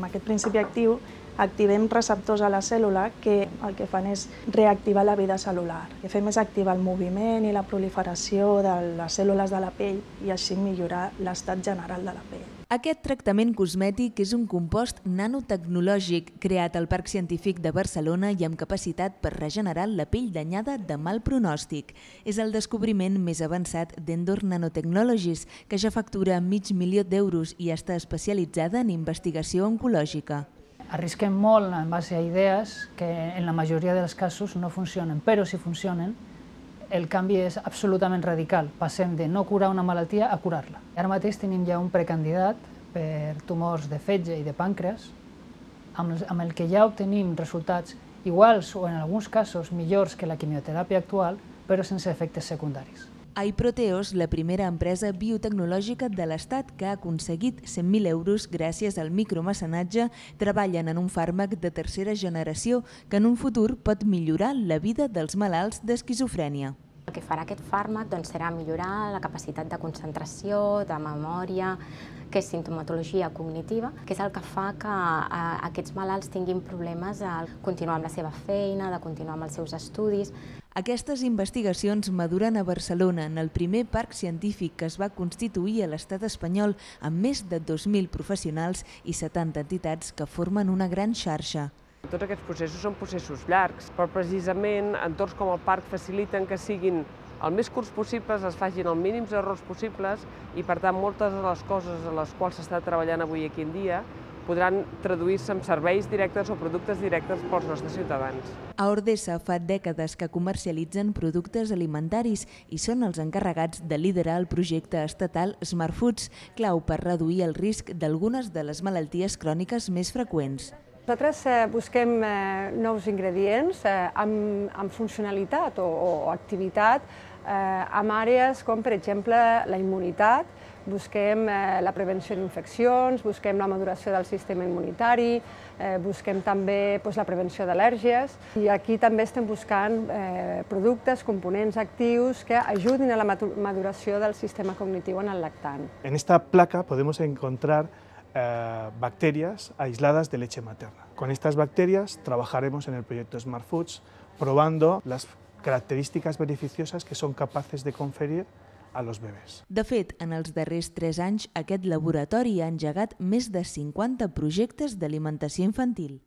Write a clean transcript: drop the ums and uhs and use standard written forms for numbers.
amb aquest principi actiu activem receptors a la cèl·lula que el que fan és reactivar la vida cel·lular. El que fem és activar el moviment i la proliferació de les cèl·lules de la pell i així millorar l'estat general de la pell. Aquest tractament cosmètic és un compost nanotecnològic creat al Parc Científic de Barcelona i amb capacitat per regenerar la pell danyada de mal pronòstic. És el descobriment més avançat d'Endor Nanotechnologies, que ja factura $500.000 i està especialitzada en investigació oncològica. Arrisquem molt en base a idees que en la majoria dels casos no funcionen, però si funcionen el canvi és absolutament radical. Passem de no curar una malaltia a curar-la. Ara mateix tenim ja un precandidat per tumors de fetge i de pàncreas, amb el que ja obtenim resultats iguals o en alguns casos millors que la quimioteràpia actual, però sense efectes secundaris. iProteos, la primera empresa biotecnològica de l'Estat que ha aconseguit €100.000 gràcies al micromecenatge, treballen en un fàrmac de tercera generació que en un futur pot millorar la vida dels malalts d'esquizofrènia. El que farà aquest fàrmac serà millorar la capacitat de concentració, de memòria, que és simptomatologia cognitiva, que és el que fa que aquests malalts tinguin problemes a continuar amb la seva feina, de continuar amb els seus estudis. Aquestes investigacions maduren a Barcelona, en el primer parc científic que es va constituir a l'estat espanyol amb més de 2.000 professionals i 70 entitats que formen una gran xarxa. Tots aquests processos són processos llargs, però precisament entorns com el parc faciliten que siguin el més curts possibles, es facin els mínims errors possibles i, per tant, moltes de les coses a les quals s'està treballant avui aquí en dia podran traduir-se en serveis directes o productes directes pels nostres ciutadans. A Ordesa fa dècades que comercialitzen productes alimentaris i són els encarregats de liderar el projecte estatal Smart Foods, clau per reduir el risc d'algunes de les malalties cròniques més freqüents. Nosaltres busquem nous ingredients amb funcionalitat o activitat en àrees com, per exemple, la immunitat. Busquem la prevenció d'infeccions, busquem la maduració del sistema immunitari, busquem també la prevenció d'al·lèrgies i aquí també estem buscant productes, components actius que ajudin a la maduració del sistema cognitiu en el lactant. En esta placa podemos encontrar bacterias aisladas de leche materna. Con estas bacterias trabajaremos en el proyecto Smart Foods probando las características beneficiosas que son capaces de conferir a los bebès. De fet, en els darrers 3 anys, aquest laboratori ha engegat més de 50 projectes d'alimentació infantil.